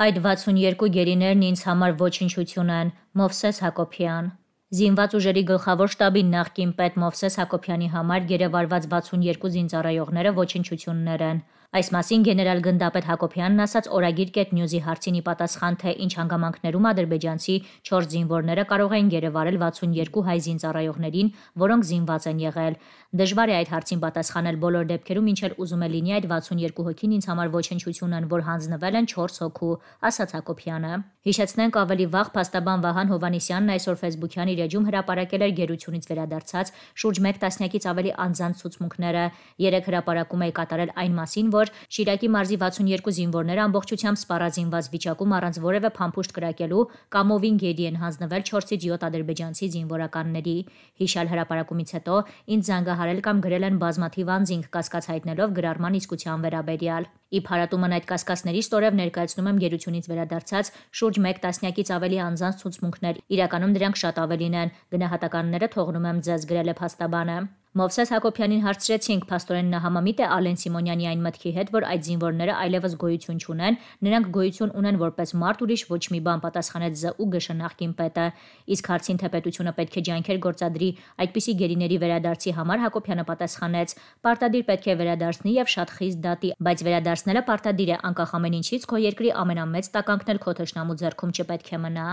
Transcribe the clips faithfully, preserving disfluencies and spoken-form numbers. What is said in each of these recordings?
Այդ վաթսունյերկու գերիներն ինձ համար ոչնչություն են, Մովսես Հակոբյան։ Զինված ուժերի գլխավոր շտաբի նախկին պետ Մովսես Հակոբյանի համար գերեվարված վաթսունյերկու զինծառայողները ոչնչություններ են։ Այս մասին գեներալ գնդապետ Հակոբյանն ասաց Օրագիր կետ նյուզի հարցին ի պատասխան, թե ինչ հանգամանքներում ադրբեջանցի չորս զինվորները կարող էին գերեվարել վաթսունյերկու հայ զինծառայողներին, որոնք զինված են եղել։ Դժվար է այդ հարցին պատասխանել բոլոր դեպքերում, ինչ էլ ուզում է լինի, այդ վաթսունյերկու հոգին ինձ համար ոչնչություն են, որ հանձնվել են չորս հոգու, ասաց Հակոբյանը։ Հիշեցնենք, ավելի վաղ փաստաբան Վահան Հովհաննիսյանն այսօր ֆեյսբուքյան իր էջում հրապարակել էր գերությունից վերադարձած շուրջ մեկ տասնյակից ավելի անձանց ցուցմունքները։ Երեք հրապարակում է կատարել այն մասին, որ Շիրակի մարզի վաթսունյերկու զինվորները ամբողջությամբ սպառազինված վիճակում առանց որևէ փամփուշտ կրակելու կամովին գերի են հանձնվել չորսից յոթ ադրբեջանցի զինվորականների։ Հիշյալ հրապարակումից հետո ինձ զանգահարել կամ գրել են բազմաթիվ անձինք, կասկած հայտնելով գրառման իսկության վերաբերյալ։ Ի փարատումն այդ կասկածների ստորև ներկայացնում եմ գերությունից վերադարձած շուրջ մեկ տասնյակից ավելի անձանց ցուցմունքներ, իրականում դրանք շատ ավելին են, գնահատականները թողնում եմ ձեզ, գրել է փաստաբանը։ Մովսես Հակոբյանին հարցրեցինք, փաստորեն նա համամիտ է Ալեն Սիմոնյանի այն մտքի հետ, որ այդ զինվորները այլևս գոյություն չունեն, նրանք գոյություն ունեն որպես մարդ, ուրիշ ոչ մի բան, պատասխանեց ԶՈՒԳՇ նախկին պետը։ Իսկ հարցին, թե պետությունը պետք է ջանքեր գործադրի այդպիսի գերիների վերադարձի համար, Հակոբյանը պատասխանեց. Պարտադիր պետք է վերադարձնի եւ շատ խիստ դատի, բայց վերադարձնելը պարտադիր է, անկախ ամեն ինչից, քո երկրի ամենամեծ տականքն էլ քո թշնամու ձեռքում չպետք է մնա։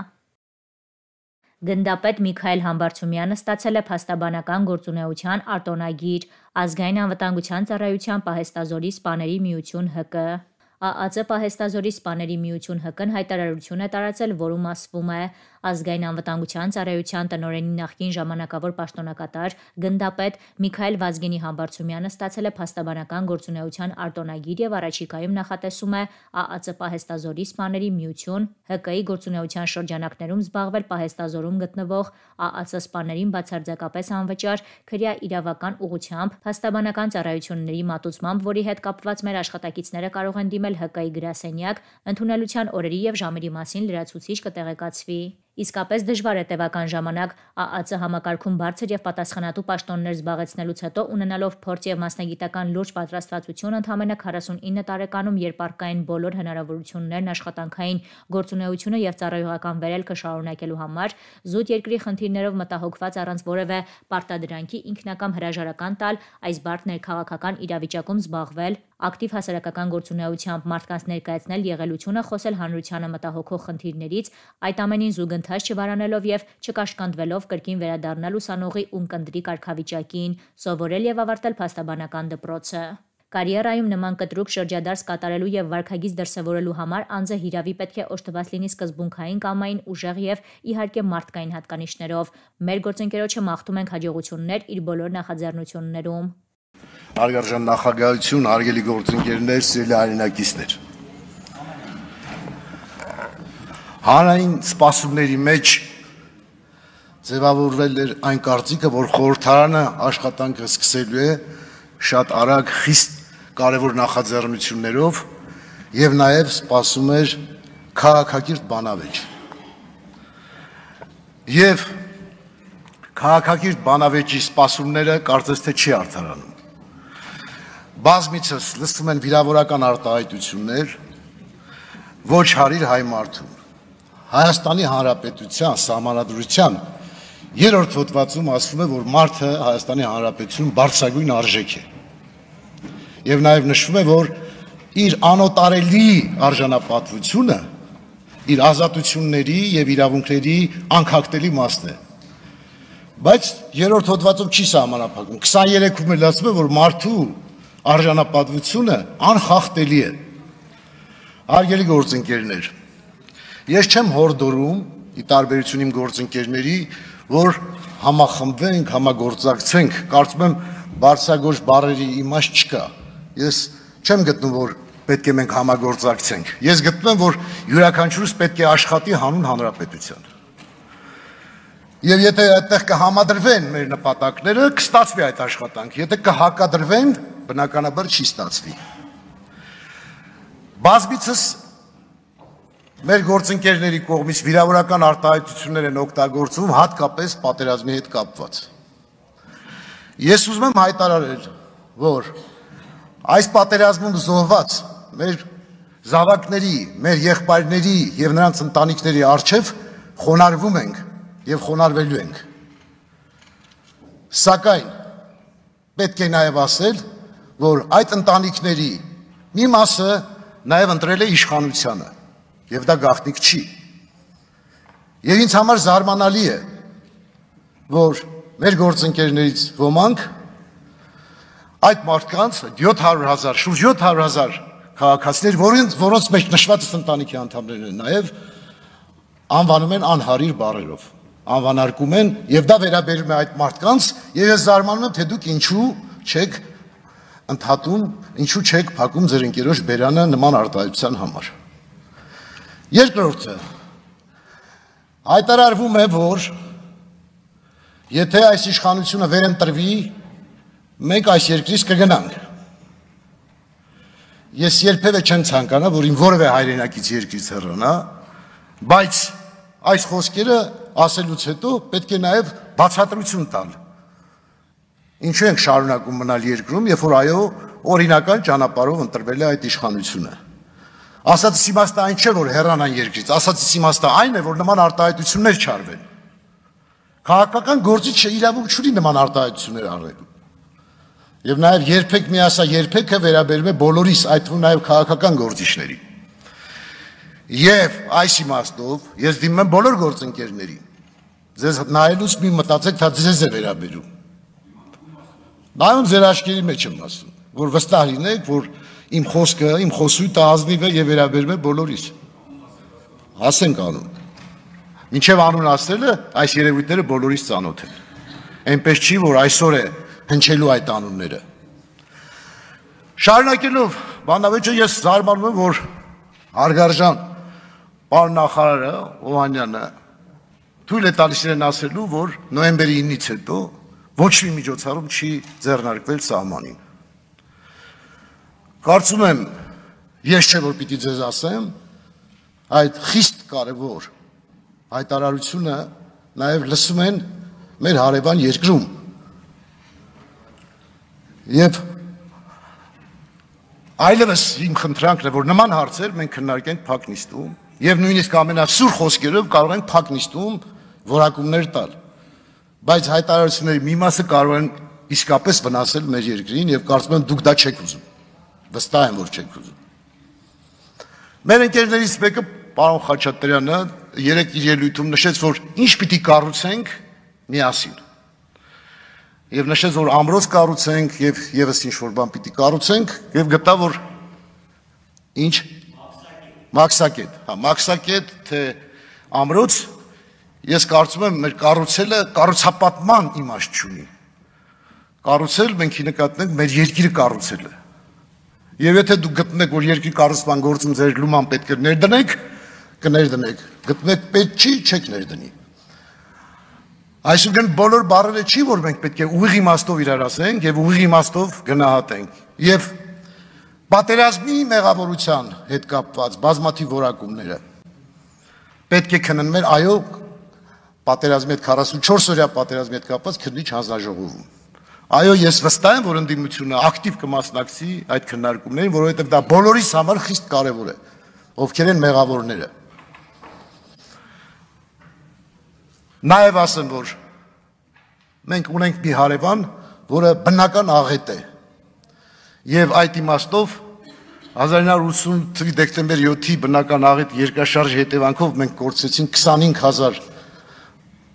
Գնդապետ Միքայել Համբարձումյանը ստացել է փաստաբանական գործունեության արտոնագիր, Ազգային անվտանգության ծառայության Պահեստազորի սպաների միություն ՀԿ։ ԱԱԾ Պահեստազորի սպաների միություն ՀԿ-ն հայտարարություն է տարածել, որում ասվում է. Ազգային անվտանգության ծառայության տնօրենի նախկին ժամանակավոր պաշտոնակատար գնդապետ Միքայել Վազգենի Համբարձումյանը ստացել է փաստաբանական գործունեության արտոնագիր եւ առաջիկայում նախատեսում է ԱԱԾ Պահեստազորի սպաների միություն ՀԿ-ի գործունեության շրջանակներում զբաղվել Պահեստազորում գտնվող ԱԱԾ սպաներին բացարձակապես անվճար քրյա իրավական ուղղությամբ փաստաբանական ծառայությունների մատուցմամբ, որի հետ կապված մեր աշխատակիցները կարող են դիմել ՀԿ-ի գրասենյակ, ընդունելության օրերի եւ ժամերի մասին լրացուցիչ կտեղեկացվի։ Իսկապես դժվար է տևական ժամանակ ԱԱԾ համակարգում բարձր եւ պատասխանատու պաշտոններ զբաղեցնելուց հետո ունենալով փորձ եւ մասնագիտական լուրջ պատրաստվածություն ընդամենը քառասունինը տարեկանում, երբ առկային բոլոր հնարավորություններն աշխատանքային գործունեությունը եւ ծառայողական վերելքը շարունակելու համար, զուտ երկրի խնդիրներով մտահոգված առանց որևէ պարտադրանքի ինքնակամ հրաժարական տալ, այս բարդ ներքաղաքական իրավիճակում զբաղվել, ակտիվ հասարակական գործունեությամբ մարդկանց ներկայացնել եղելությունը, խոսել հանրությանը մտահոգող խնդիրներից, այդ ամենին զուգընթաց չվարանելով եւ չկաշկանդվելով կրկին վերադառնալ ուսանողի ունկնդրի կարգավիճակին, սովորել եւ ավարտել փաստաբանական դպրոցը։ Կարիերայում նման կտրուկ շրջադարձ կատարելու եւ վարքագիծ դրսեւորելու համար անձը հիրավի պետք է օժտված լինի սկզբունքային կամային ուժեղ եւ իհարկե մարդկային հատկանիշներով։ Մեր գործընկերոջը մաղթում ենք հաջողություններ իր բոլոր նախաձեռնություններում։ Հարգարժան նախագահություն, հարգելի գործընկերներ, սիրելի հայրենակիցներ։ Հանրային սպասումների մեջ ձևավորվել էր այն կարծիքը, որ խորհրդարանը աշխատանքը սկսելու է շատ արագ, խիստ կարևոր նախաձեռնություններով եւ նաեւ սպասում էր քաղաքակիրթ բանավեճ։ Եվ քաղաքակիրթ բանավեճի սպասումները կարծես թե չի արդարանում։ Բազմիցս լսվում են վիրավորական արտահայտություններ, ոչ հարիր հայ մարդու։ Հայաստանի Հանրապետության սահմանադրության երրորդ հոդվածում ասվում է, որ մարդը Հայաստանի Հանրապետությունում բարձրագույն արժեք է։ Եվ նաև նշվում է, որ իր անոտարելի արժանապատվությունը իր ազատությունների եւ իրավունքների անքակտելի մասն է։ Բայց երրորդ հոդվածում չի սահմանափակում։ քսաներեքում էլ ասվում է, որ մարդու արժանապատվությունը անխախտելի է։ Հարգելի գործընկերներ, ես չեմ հորդորում, ի տարբերություն իմ գործընկերների, որ համախմբվենք, համագործակցենք, կարծում եմ բարձրագույն բառերի իմաստ չկա։ Ես չեմ գտնում, որ պետք է մենք համագործակցենք։ Ես գտնում եմ, որ յուրաքանչյուրս պետք է աշխատի հանուն հանրապետության։ Եվ եթե այդտեղ կհամադրվեն մեր նպատակները, կստացվի այդ աշխատանքը, եթե կհակադրվեն, բնականաբար չի ստացվի։ Բազմիցս մեր գործընկերների կողմից վիրավորական արտահայտություններ են օգտագործվում, հատկապես պատերազմի հետ կապված։ Ես ուզում եմ հայտարարել, որ այս պատերազմում զոհված մեր զավակների, մեր եղբայրների եւ նրանց ընտանիքների առջև խոնարհվում ենք եւ խոնարհվելու ենք։ Սակայն պետք է նաեւ ասել, որ այդ ընտանիքների մի մասը նաեւ ընտրել է իշխանությանը եւ դա գաղտնիք չի։ Եվ ինձ համար զարմանալի է, որ մեր գործընկերներից ոմանք այդ մարդկանց յոթ հարյուր հազար, շուրջ յոթ հարյուր հազար քաղաքացիներ, որոնց որոնց մեջ նշված ընտանիքի անդամներն են նաեւ անվանում են անհարիր բառերով, անվանարկում են եւ դա վերաբերում է այդ մարդկանց եւ ես զարմանում եմ, թե դուք ինչու չեք ընդհատում, ինչու չեք փակում ձեր ընկերոջ բերանը նման արտահայտության համար։ Երկրորդը հայտարարվում է, որ եթե այս իշխանությունը վերընտրվի, մենք այս երկրից կգնանք։ Ես երբևէ չեմ ցանկանա, որ իմ որևէ հայրենակից երկրից հեռանա, բայց այս խոսքերը ասելուց հետո պետք է նաև բացատրություն տալ։ Ինչու ենք շարունակում մնալ երկրում, երբ որ այո, օրինական ճանապարհով ընտրվել է այդ իշխանությունը։ Ասածս իմաստը այն չէ, որ հեռանան երկրից, ասածս իմաստը այն է, որ նման արտահայտություններ չարվեն։ Քաղաքական գործիչը իրավունք չունի նման արտահայտություններ արելու։ Եվ նաև երբեք մի ասա, երբեքը վերաբերում է բոլորիս, այդ թվում նաև քաղաքական գործիչների։ Եվ այս իմաստով ես դիմում եմ բոլոր գործընկերներին։ Ձեզ նայելուց մի մտածեք, թե ձեզ է վերաբերում։ Նայում ձեր աչքերի մեջ եմ ասում, որ վստահ լինեք, որ իմ խոսքը, իմ խոսույթը ազնիվ է եւ վերաբերում է բոլորիս։ Ասենք անուն։ Մինչև անուն ասելը այս երևույթները բոլորիս ծանոթ են։ Այնպես չի, որ այսօր է հնչելու այդ անունները։ Շարունակելով բանավեճը ես զարմանում եմ, որ հարգարժան պարոն նախարարը Օհանյանը թույլ է տալիս իրեն ասելու, որ նոյեմբերի ինից հետո ոչ մի միջոցառում չի ձեռնարկվել սահմանին։ Կարծում եմ, ես չէ որ պիտի ձեզ ասեմ, այդ խիստ կարևոր հայտարարությունը նաև լսում են մեր հարևան երկրում։ Եվ այլևս իմ խնդրանքն է, որ նման հարցեր մենք քննարկենք փակ նիստում եւ նույնիսկ ամենասուր խոսքերով կարող ենք փակ նիստում որակումներ տալ։ Բայց հայտարարությունների մի մասը կարող են իսկապես վնասել մեր երկրին եւ կարծում եմ դուք դա չեք ուզում։ Վստահ եմ, որ չեք ուզում։ Մեր ընկերներից մեկը, պարոն Խաչատրյանը, երեք իր ելույթում նշեց, որ ինչ պիտի կառուցենք միասին։ Եվ նշեց, որ ամրոց կառուցենք եւ եւս ինչ որ բան պիտի կառուցենք եւ գտա, որ ինչ մաքսակետ, հա, մաքսակետ թե ամրոց, ես կարծում եմ մեր կառուցելը կառուցապատման իմաստ չունի։ Կառուցել մենք նկատենք մեր երկիրը կառուցելը։ Եվ եթե դուք գտնեք, որ երկրի կառուցման գործում ձեր լուման պետք է ներդնեք, կներդնեք։ Գտնեք պետք չի, չեք ներդնի։ Այսինքն բոլոր բառերը չի, որ մենք պետք է ուղիղ իմաստով իրար ասենք եւ ուղիղ իմաստով գնահատենք։ Եվ պատերազմի մեղավորության հետ կապված բազմաթիվ որակումները պետք է քննվեն, այո, պատերազմի հետ քառասունչորս օրյա պատերազմի հետ կապված քննիչ հանձնաժողովում։ Այո, ես վստահ եմ, որ ընդդիմությունը ակտիվ կմասնակցի այդ քննարկումներին, որովհետև դա բոլորիս համար խիստ կարևոր է, ովքեր են մեղավորները։ Նաև ասեմ, որ մենք ունենք մի հարևան, որը բնական աղետ է։ Եվ այդ իմաստով հազար ինը հարյուր ութսուն թվականի դեկտեմբեր յոթի բնական աղետ երկրաշարժի հետևանքով մենք կորցրեցինք քսանհինգ հազար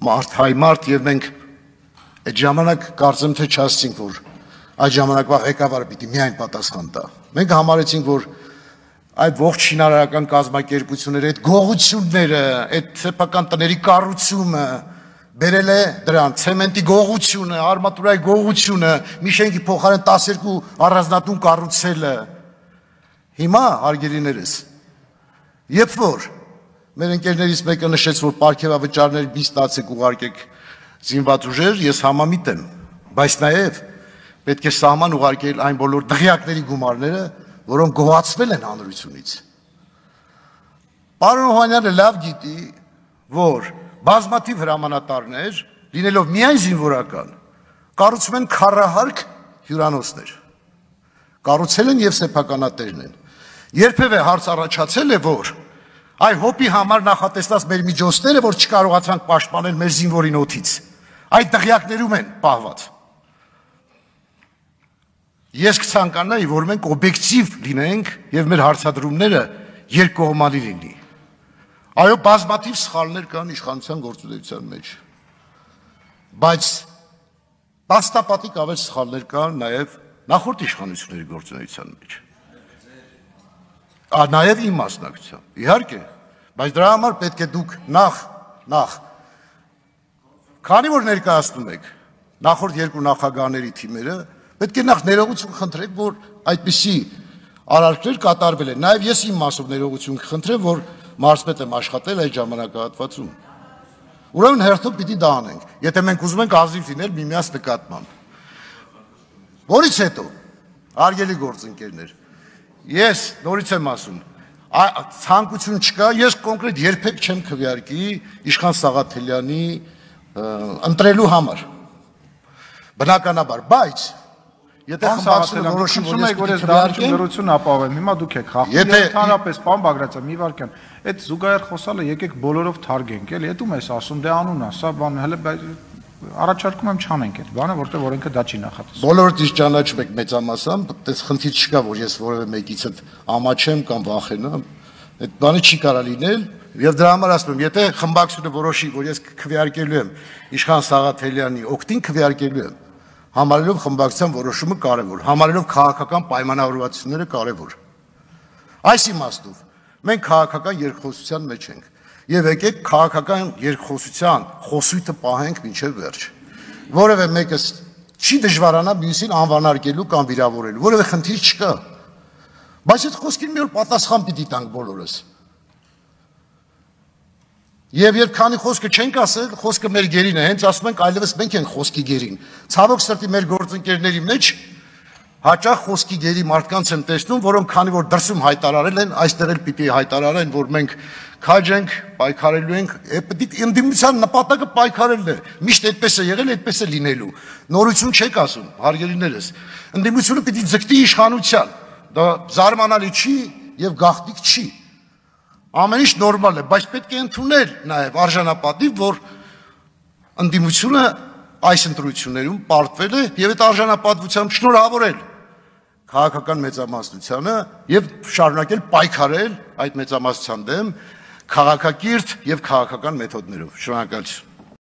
մարդ, հայ մարդ, եւ մենք այդ ժամանակ կարծեմ թե չասեցինք, որ այդ ժամանակվա ղեկավարը պիտի միայն պատասխան տա։ Մենք համարեցինք, որ այդ ողջ շինարարական կազմակերպությունները, այդ գողությունները, այդ սեփական տների կառուցումը բերել է դրան, ցեմենտի գողությունը, արմատուրայի գողությունը, մի շենքի փոխարեն տասներկու առանձնատուն կառուցելը։ Հիմա, հարգելիներս, երբ որ մեր ընկերներից մեկը նշեց, որ պարգևավճարների մի ստացեք ուղարկեք զինված ուժեր, ես համամիտ եմ, բայց նաև պետք է սահման ուղարկել այն բոլոր դղյակների գումարները, որոնք գոհացվել են հանրությունից։ Պարոն Օհանյանը լավ գիտի, որ բազմաթիվ հրամանատարներ, լինելով միայն զինվորական, կառուցում են քառահարկ հյուրանոցներ։ Կառուցել են եւ սեփականատերն են։ Երբևէ հարց առաջացել է, որ այ հոպի համար նախատեսված մեր միջոցները, որ չկարողացանք պաշտպանել մեր զինվորին օդից, այդ դղյակներում են պահված։ Ես կցանկանայի, որ մենք օբյեկտիվ լինենք եւ մեր հարցադրումները երկկողմանի լինի։ Այո, բազմաթիվ սխալներ կան իշխանության գործունեության մեջ, բայց բաստապատիկ ավելի սխալներ կան նաեւ նախորդ իշխանությունների գործունեության մեջ։ Նաև իմ մասնակցությամբ, իհարկե, բայց դրա համար պետք է դուք նախ, նախ, քանի որ ներկայացնում եք նախորդ երկու նախագահների թիմերը, պետք է նախ ներողություն խնդրեք, որ այդպիսի արարքներ կատարվել են, նաև ես իմ մասով ներողություն կխնդրեմ, որ մարզպետ եմ աշխատել այդ ժամանակահատվածում։ Ուրեմն հերթով պիտի դա անենք, եթե մենք ուզում ենք ազնիվ լինել միմյանց նկատմամբ։ Որից հետո, հարգելի գործընկերներ, ես նորից եմ ասում, ցանկություն չկա, ես կոնկրետ երբեք չեմ քվեարկի Իշխան Սաղաթելյանի ընտրելու համար։ Բնականաբար, բայց եթե խմբակցությունը որոշի, որ ես պիտի քվեարկեմ, դրություն ապահովեմ, հիմա դուք եք խախտում, ընդհանրապես, պարոն Բագրատյան, մի վարքյան, այդ զուգահեռ խոսալը եկեք բոլորով թարգենք, էլի, այդ ում ես ասում, դե անուն ասա, բան, հələ առաջարկում եմ չանենք այդ բանը, որտեղ օրենքը դա չի նախատեսում։ Բոլորդ իշ ճանաչում եք մեծամասամբ, այդպես խնդիր չկա, որ ես որևէ մեկից ամաչեմ կամ վախենամ, այդ բանը չի կարա լինել, եւ դրա համար ասում եմ, եթե խմբակցությունը որոշի, որ ես քվեարկելու եմ Իշխան Սաղաթելյանի օգտին քվեարկելու եմ, համարելով խմբակցության որոշումը կարևոր, համարելով քաղաքական պայմանավորվածությունները կարևոր։ Այս իմաստով մենք քաղաքական երկխոսության մեջ ենք։ Եվ եկեք քաղաքական երկխոսության խոսույթը պահենք մինչև վերջ։ Որևէ մեկը չի դժվարանա մյուսին անվանարկելու կամ վիրավորելու, որևէ խնդիր չկա։ Բայց այդ խոսքին մի օր պատասխան պիտի տանք բոլորս։ Եվ երբ քանի խոսքը չենք ասել, խոսքը մեր գերին է, հենց ասում ենք այլևս մենք ենք խոսքի գերին։ Ցավոք սրտի մեր գործընկերների մեջ հաճախ խոսքի գերի մարդկանց եմ տեսնում, որոնք քանի որ դրսում հայտարարել են, այստեղ էլ պիտի հայտարարեն, որ մենք քաջ ենք, պայքարելու ենք, պետք է ընդդիմության նպատակը պայքարելն է։ Միշտ այդպես է եղել, այդպես է լինելու։ Նորություն չեք ասում, հարգելիներս։ Ընդդիմությունը պիտի ձգտի իշխանության։ Դա զարմանալի չի եւ գաղտնիք չի։ Ամեն ինչ նորմալ է, բայց պետք է ընդունել նաեւ արժանապատիվ, որ ընդդիմությունը այս ընտրություններում պարտվել է եւ այդ արժանապատվությամբ շնորհավորել քաղաքական մեծամասնությանը եւ շարունակել պայքարել այդ մեծամասնության դեմ քաղաքակիրթ եւ քաղաքական մեթոդներով։ Շնորհակալություն։